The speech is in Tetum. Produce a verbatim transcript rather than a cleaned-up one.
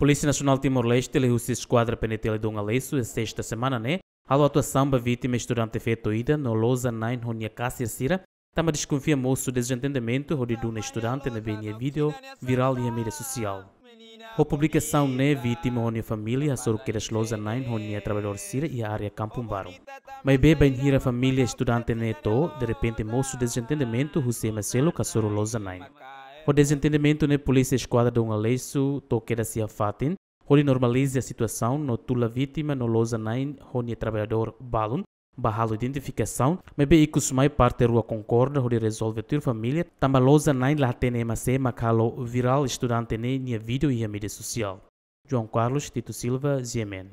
Polísia Nasionál Timor-Leste liuhusi Eskuadra P N T L Dom Aleixo iha sesta semana ne'e halo atuasaun ba vítima, estudante feto ida no loja na'in ho nia kasir sira, tanba deskonfia mosu dezentendimentu hodi duna estudante ne'ebé nia vídeo virál iha média sosiál. Ho publikasaun ne'e, vítima ho nia família hasoru kedas loja na'in ho nia traballadór sira iha área Kampung Baru. Maibé bainhira família estudante ne'e to'o, derrepente mosu dezentendimentu husi ema seluk hasoru loja na'in. Ho dezentendimentu ne'e, polísia Eskuadra Dom Aleixo to'o kedas iha fatin hodi normaliza situasaun no tula vítima no loja na'in ho nia traballadór balun ba halo identifikasaun, maibé ikus mai parte rua konkorda hodi rezolve tuir família, tanba loja na'in la hatene ema sé mak halo virál estudante ne'e nia vídeo iha média sosiál. João Carlos Tito Silva, G M N.